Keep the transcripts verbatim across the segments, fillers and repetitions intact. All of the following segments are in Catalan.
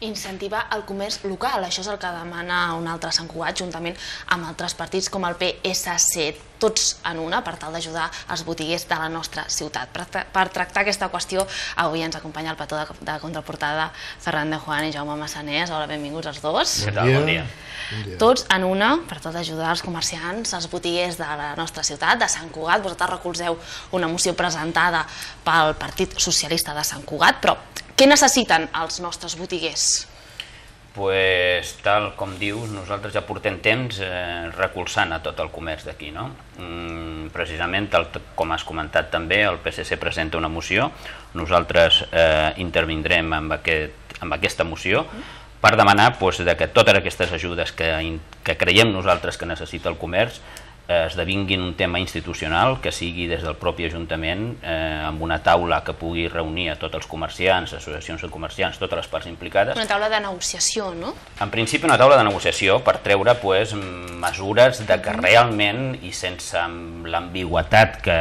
incentivar el comerç local. Això és el que demana un altre Sant Cugat, juntament amb altres partits com el P S C, tots en una, per tal d'ajudar els botiguers de la nostra ciutat. Per tractar aquesta qüestió, avui ens acompanya el petó de contraportada Ferran de Juan i Jaume Massanés. Hola, benvinguts els dos. Què tal? Bon dia. Tots en una, per tal d'ajudar els comerciants, els botiguers de la nostra ciutat, de Sant Cugat. Vosaltres recolzeu una moció presentada pel Partit Socialista de Sant Cugat, però què necessiten els nostres botiguers? Pues, tal com dius, nosaltres ja portem temps eh, recolzant a tot el comerç d'aquí, no? Mm, precisament, tal com has comentat també, el P S C presenta una moció, nosaltres eh, intervindrem amb, aquest, amb aquesta moció per demanar pues, de que totes aquestes ajudes que, que creiem nosaltres que necessita el comerç esdevinguin un tema institucional, que sigui des del propi Ajuntament, eh, amb una taula que pugui reunir a tots els comerciants, associacions de comerciants, totes les parts implicades. Una taula de negociació, no? En principi una taula de negociació per treure pues, mesures de que realment, i sense l'ambigüitat que,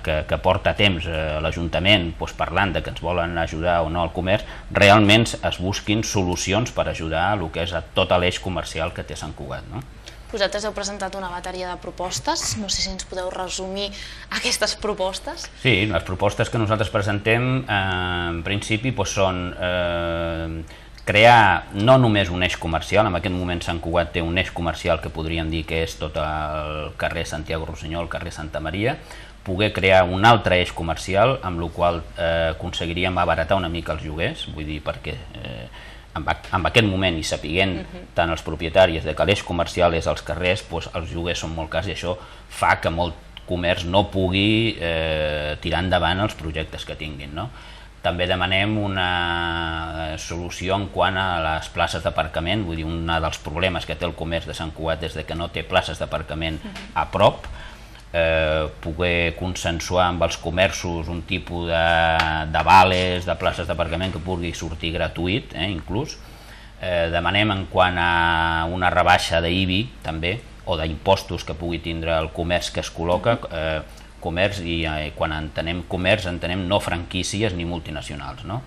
que, que porta temps eh, l'Ajuntament pues, parlant de que ens volen ajudar o no al comerç, realment es busquin solucions per ajudar a el que és a tot l'eix comercial que té Sant Cugat, no? Vosaltres heu presentat una bateria de propostes, no sé si ens podeu resumir aquestes propostes. Sí, les propostes que nosaltres presentem eh, en principi doncs, són eh, crear no només un eix comercial, en aquest moment Sant Cugat té un eix comercial que podríem dir que és tot el carrer Santiago Rossinyol, el carrer Santa Maria, poder crear un altre eix comercial amb el qual eh, aconseguiríem abaratar una mica els lloguers, vull dir perquè eh, en aquest moment i sapiguent uh-huh. tant els propietaris de que l'eix comercial és als carrers, doncs els lloguers són molt cars i això fa que molt comerç no pugui eh, tirar endavant els projectes que tinguin, no? També demanem una solució en quant a les places d'aparcament, vull dir, un dels problemes que té el comerç de Sant Cugat és que no té places d'aparcament uh-huh. a prop, Eh, poder consensuar amb els comerços un tipus de, de vales, de places d'aparcament que pugui sortir gratuït, eh, inclús. Eh, demanem en quant a una rebaixa d'I B I també, o d'impostos que pugui tindre el comerç que es col·loca, eh, comerç, i eh, quan entenem comerç entenem no franquícies ni multinacionals, no?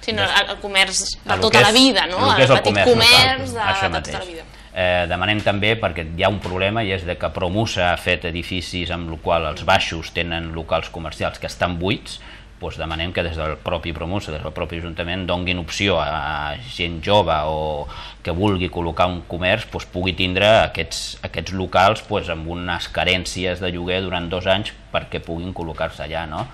Sinó el comerç de tota la vida, no? El petit comerç de tota la vida. Eh, demanem també, perquè hi ha un problema, i és de que Promusa ha fet edificis amb el qual els baixos tenen locals comercials que estan buits, doncs demanem que des del propi Promusa, des del propi Ajuntament, donguin opció a gent jove o que vulgui col·locar un comerç, doncs pugui tindre aquests, aquests locals doncs, amb unes carències de lloguer durant dos anys perquè puguin col·locar-se allà, no?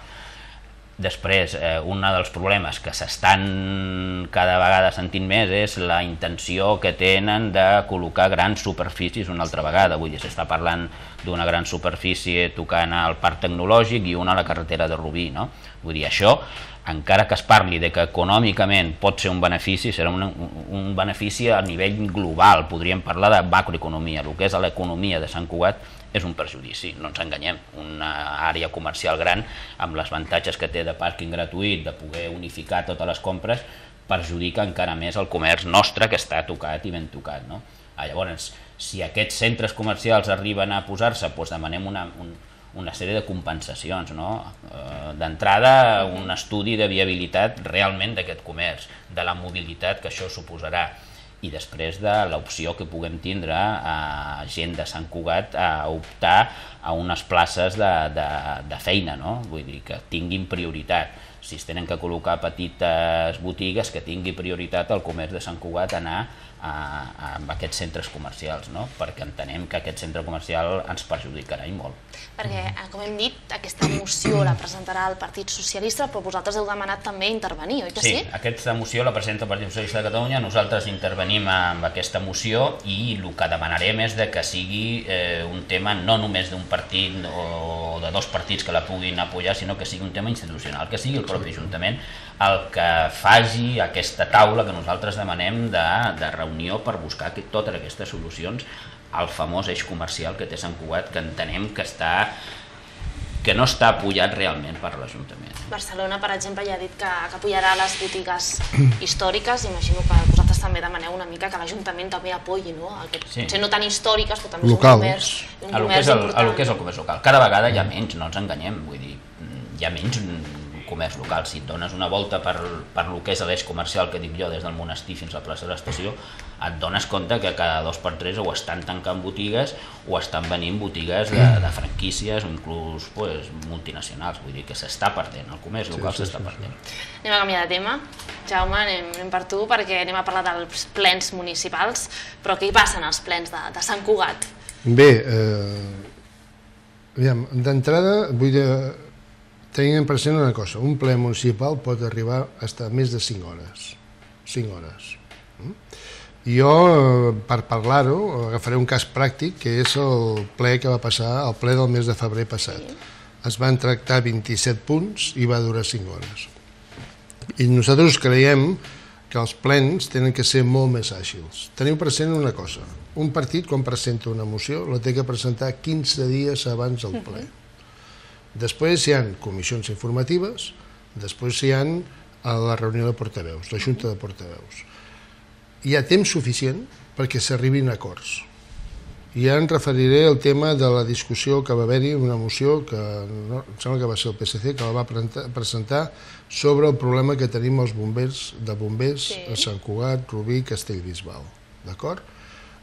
Després, eh, un dels problemes que s'estan cada vegada sentint més és la intenció que tenen de col·locar grans superfícies una altra vegada. Vull dir, s'està parlant d'una gran superfície tocant al Parc Tecnològic i una a la carretera de Rubí, no? Vull dir, això, encara que es parli de que econòmicament pot ser un benefici, serà un, un benefici a nivell global. Podríem parlar de macroeconomia. El que és l'economia de Sant Cugat és un perjudici, no ens enganyem. Una àrea comercial gran amb els avantatges que té de pàrquing gratuït, de poder unificar totes les compres, perjudica encara més el comerç nostre que està tocat i ben tocat, no? Llavors, si aquests centres comercials arriben a posar-se, doncs demanem una, un, una sèrie de compensacions, no? Eh, d'entrada, un estudi de viabilitat realment d'aquest comerç, de la mobilitat que això suposarà, i després de l'opció que puguem tindre a gent de Sant Cugat a optar a unes places de, de, de feina, no? Vull dir, que tinguin prioritat. Si es tenen que col·locar petites botigues, que tingui prioritat el comerç de Sant Cugat a anar a, a, a aquests centres comercials, no? Perquè entenem que aquest centre comercial ens perjudicarà i molt. Perquè, com hem dit, aquesta moció la presentarà el Partit Socialista, però vosaltres heu demanat també intervenir, oi que sí? Sí, aquesta moció la presenta el Partit Socialista de Catalunya, nosaltres intervenim amb aquesta moció i el que demanarem és que sigui eh, un tema no només d'un partit o de dos partits que la puguin apoyar, sinó que sigui un tema institucional, que sigui el propi Ajuntament el que faci aquesta taula que nosaltres demanem de, de reunió per buscar totes aquestes solucions al famós eix comercial que té Sant Cugat, que entenem que està que no està apoyat realment per l'Ajuntament. Barcelona, per exemple, ja ha dit que, que apoyarà les botigues històriques. Imagino que vosaltres també demaneu una mica que l'Ajuntament també apoyi, no? Que, sí. Potser no tan històriques, però també local. És un comerç, un a comerç el, important. A el que és el comerç local. Cada vegada hi ha menys, no ens enganyem, vull dir, hi ha menys comerç local. Si et dones una volta per, per lo que és l'eix comercial, que dic jo, des del monestir fins a la plaça de l'estació, et dones compte que cada dos per tres o estan tancant botigues o estan venint botigues de, de franquícies o inclús pues, multinacionals. Vull dir que s'està perdent, el comerç local sí, sí, s'està sí, perdent. Sí. Anem a canviar de tema. Jaume, anem, anem per tu, perquè anem a parlar dels plens municipals, però què hi passen als plens de, de Sant Cugat? Bé, eh, d'entrada vull dir, tenint present una cosa, un ple municipal pot arribar fins a més de cinc hores. cinc hores. Jo, per parlar-ho, agafaré un cas pràctic, que és el ple que va passar, el ple del mes de febrer passat. Es van tractar vint-i-set punts i va durar cinc hores. I nosaltres creiem que els plens tenen que ser molt més àgils. Teniu present una cosa, un partit quan presenta una moció la té que presentar quinze dies abans del ple. Després hi ha comissions informatives, després hi ha la reunió de portaveus, la junta de portaveus. Hi ha temps suficient perquè s'arribin a acords. I ja em referiré al tema de la discussió que va haver-hi, una moció que no, em sembla que va ser el P S C, que la va presentar sobre el problema que tenim els bombers de bombers sí. a Sant Cugat, Rubí, Castellbisbal. D'acord?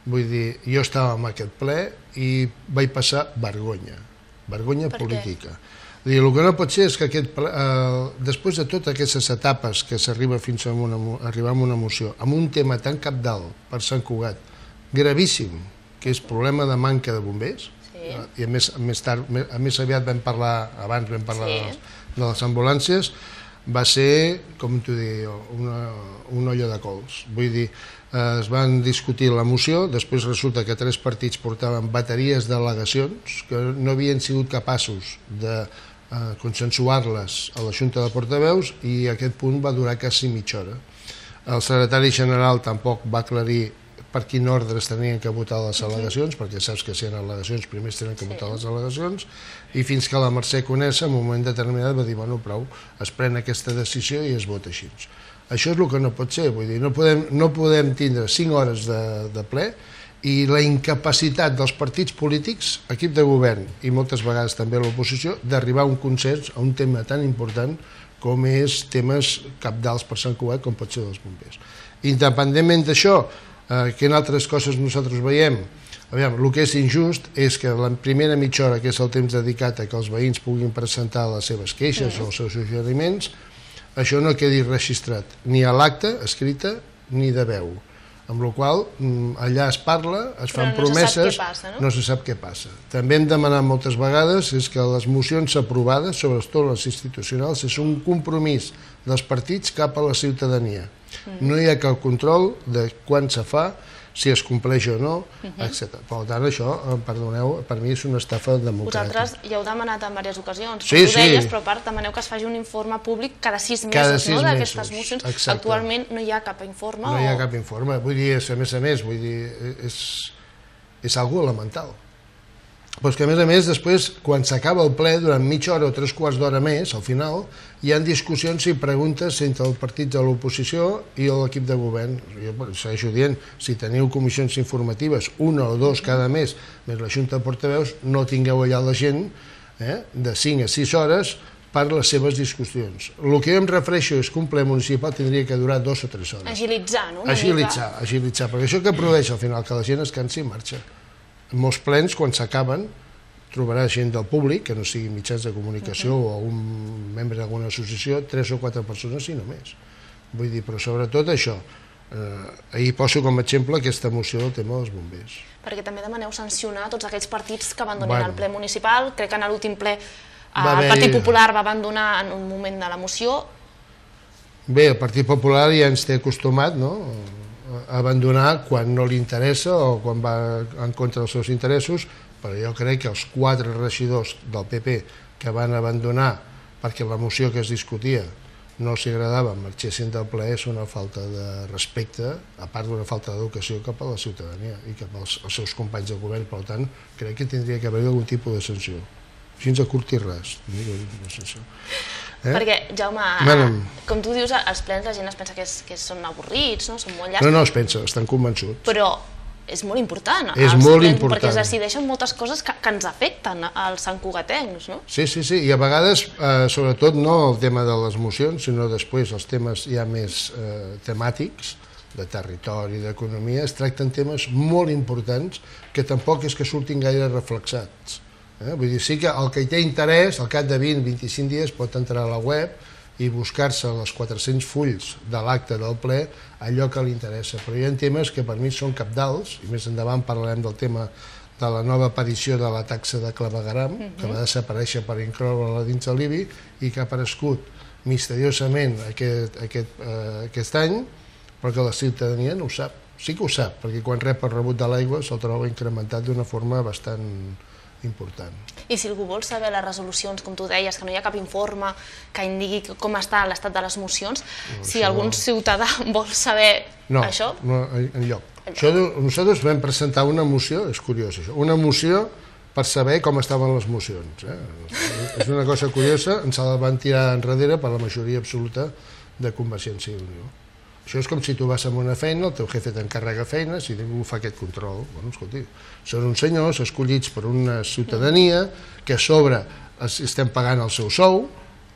Vull dir, jo estava en aquest ple i vaig passar vergonya, vergonya política. Dir, el que no pot ser és que aquest ple, eh, després de totes aquestes etapes que s'arriba fins a una, arribar a una moció, amb un tema tan cabdal per Sant Cugat, gravíssim, que és problema de manca de bombers, sí. i a més, més, tard, a més aviat vam parlar, abans vam parlar sí. de, les, de les ambulàncies, va ser, com t'ho dic, una, una olla de cols. Vull dir, eh, es van discutir la moció, després resulta que tres partits portaven bateries d'al·legacions que no havien sigut capaços de eh, consensuar-les a la Junta de Portaveus i aquest punt va durar quasi mitja hora. El secretari general tampoc va aclarir per quin ordre es tenien que votar les al·legacions, perquè saps que si hi ha al·legacions primer es tenen que votar les al·legacions, i fins que la Mercè Conesa en un moment determinat va dir, bueno, prou, es pren aquesta decisió i es vota així. Això és el que no pot ser, vull dir, no podem, no podem tindre cinc hores de, de ple i la incapacitat dels partits polítics, equip de govern i moltes vegades també l'oposició, d'arribar a un consens a un tema tan important com és temes cabdals per Sant Cugat, com pot ser dels bombers. Independentment d'això, Eh, que en altres coses nosaltres veiem, aviam, el que és injust és que la primera mitja hora, que és el temps dedicat a que els veïns puguin presentar les seves queixes mm. o els seus suggeriments, això no quedi registrat ni a l'acte escrita ni de veu, amb la qual cosa allà es parla, es fan no promeses, se passa, no? no se sap què passa. També hem demanat moltes vegades és que les mocions aprovades, sobretot les institucionals, és un compromís dels partits cap a la ciutadania. No hi ha cap control de quan se fa, si es compleix o no, etcètera. Per tant, això, perdoneu, per mi és una estafa democràtica. Vosaltres ja heu demanat en diverses ocasions, sí, ho deies, sí. però a part demaneu que es faci un informe públic cada sis mesos, cada sis no, d'aquestes mocions. Exacte. Actualment no hi ha cap informe? No hi ha o... cap informe, vull dir, a més a més, vull dir, és, és algo elemental. Però és que a més a més després, quan s'acaba el ple, durant mitja hora o tres quarts d'hora més, al final, hi ha discussions i preguntes entre els partits de l'oposició i l'equip de govern. Jo segueixo dient, si teniu comissions informatives, una o dos cada mes, més la Junta de Portaveus, no tingueu allà la gent eh, de cinc a sis hores per les seves discussions. El que jo em refereixo és que un ple municipal tindria que durar dos o tres hores. Agilitzar, no? Agilitzar, agilitzar, perquè això que produeix al final, que la gent es cansi i marxa. En molts plens, quan s'acaben, trobaràs gent del públic, que no sigui mitjans de comunicació o un membre d'alguna associació, tres o quatre persones i no més. Vull dir, però sobretot això. Eh, ahir poso com a exemple aquesta moció del tema dels bombers. Perquè també demaneu sancionar tots aquells partits que abandonin bueno. el ple municipal. Crec que en l'últim ple el Partit Popular va abandonar en un moment de la moció. Bé, el Partit Popular ja ens té acostumat, no?, a abandonar quan no li interessa o quan va en contra dels seus interessos, però jo crec que els quatre regidors del P P que van abandonar perquè la moció que es discutia no els agradava, marxessin del ple, és una falta de respecte, a part d'una falta d'educació cap a la ciutadania i cap als, als seus companys de govern. Per tant, crec que tindria que haver algun tipus de sanció. Així ens acurti res. Eh? Perquè, Jaume, bueno, com tu dius, als plens la gent es pensa que, és, que són avorrits, no? Són molt llargs. No, no es pensa, estan convençuts. Però és molt important. És molt important. Perquè es decideixen moltes coses que, que ens afecten als santcugatencs, no? Sí, sí, sí, i a vegades, eh, sobretot no el tema de les mocions, sinó després els temes ja més eh, temàtics, de territori, d'economia, es tracten temes molt importants que tampoc és que surtin gaire reflexats. Eh? Vull dir, sí que el que hi té interès, al cap de vint a vint-i-cinc dies pot entrar a la web i buscar-se les quatre-cents fulls de l'acte del ple allò que li interessa. Però hi ha temes que per mi són cabdals, i més endavant parlarem del tema de la nova aparició de la taxa de clavegueram, uh-huh. que va desaparèixer per incloure-la dins de l'I B I i que ha aparegut misteriosament aquest, aquest, eh, aquest any, però que la ciutadania no ho sap. Sí que ho sap, perquè quan rep el rebut de l'aigua se'l troba incrementat d'una forma bastant important. I si algú vol saber les resolucions, com tu deies, que no hi ha cap informe que indiqui com està l'estat de les mocions, no, si això... algun ciutadà vol saber no, això... No, enlloc. Això, nosaltres vam presentar una moció, és curiós això, una moció per saber com estaven les mocions. Eh? És una cosa curiosa, ens la van tirar enrere per la majoria absoluta de Convergència i Unió. Això és com si tu vas a una feina, el teu jefe t'encarrega feines i ningú fa aquest control. Bueno, escolti, són uns senyors escollits per una ciutadania que a sobre estem pagant el seu sou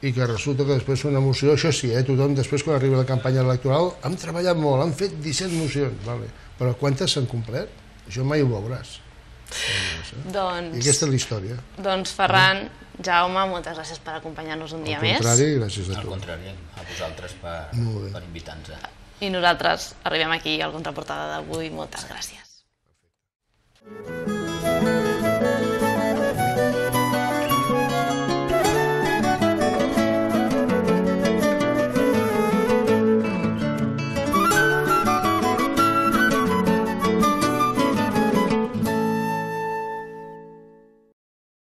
i que resulta que després una moció, això sí, eh, tothom després quan arriba la campanya electoral han treballat molt, han fet disset mocions, vale. Però quantes s'han complert? Això mai ho veuràs. Doncs, I aquesta és la història. Doncs Ferran, Jaume, moltes gràcies per acompanyar-nos un dia més. Al contrari, gràcies a tu. Al contrari, a vosaltres per, per invitar-nos. I nosaltres arribem aquí al Contraportada d'avui. Moltes gràcies.